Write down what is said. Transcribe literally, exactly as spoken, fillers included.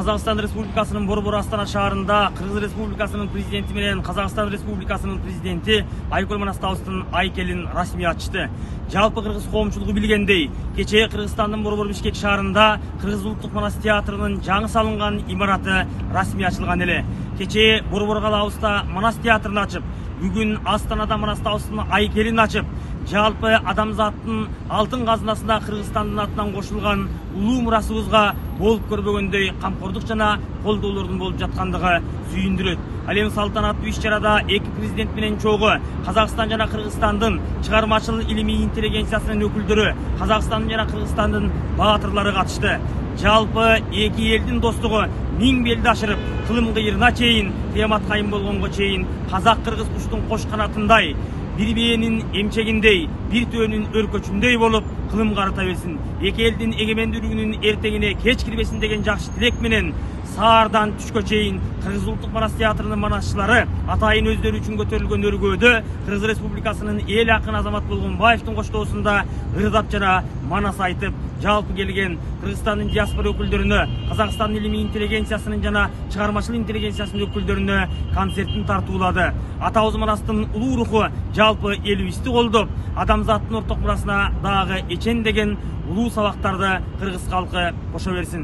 Казакстан Республикасынын Борбор Астана шаарында Кыргыз Республикасынын президенти менен Казакстан Республикасынын президенти Айкөл Манастабыздын айкелин расмий ачты. Жалпы кыргыз коомчулугу билгендей, кечээ Кыргызстандын Борбор Бишкек шаарында Кыргыз улуттук манас театрынын жаңы салынган имараты расмий ачылган эле. Кечээ Борбор калаабызда манас театрын ачып, бүгүн Астанада Манастабыздын айкелин ачып, жалпы адамзаттын алтын казынасына Кыргызстандын атынан кошулган улуу мурасыбызга болуп көрбөгөндөй камкордук жана колдоолордун болуп жаткандыгы сүйүндүрөт. Ал эми салтанаттуу иш-чарада эки президент менен чогуу Казакстан жана Кыргызстандын чыгармачыл илимий интеллигенциясынын өкүлдөрү, Казакстандын жана Кыргызстандын баатырлары катышты. Жалпы эки элдин достугу миң белди ашырып, кылым кыйырына чейин, кыямат кайым болгонго чейин казак-кыргыз куштун кош канатындай, бир бээринин эмчегиндей, бир төөнүн өркөчүндөй болуп кылым карыта берсин. Эки элдин эгемендүүлүгүнүн эртеңине кеч кирбесин деген жакшы тилек менен саардан түшкө чейин Кыргыз улуттук манас театрынын манасчылары атайын өздөрү үчүн көтөрүлгөн өргөөдө Кыргыз Республикасынын эл акын Азамат Болгонбаевдин коштоосунда ырдап жана манас айтып, жалпы келген Кыргызстандын диаспора өкүлдөрүнө, Казакстандын илимий интеллигенциясынын жана чыгармачыл интеллигенциясынын өкүлдөрүнө концертин тартуулады. Атабыз Манастын улуу руху жалпы элибизди колдоп, адамзаттын орток мурасына дагы эчен деген улуу сабактарды кыргыз калкы кошо берсин.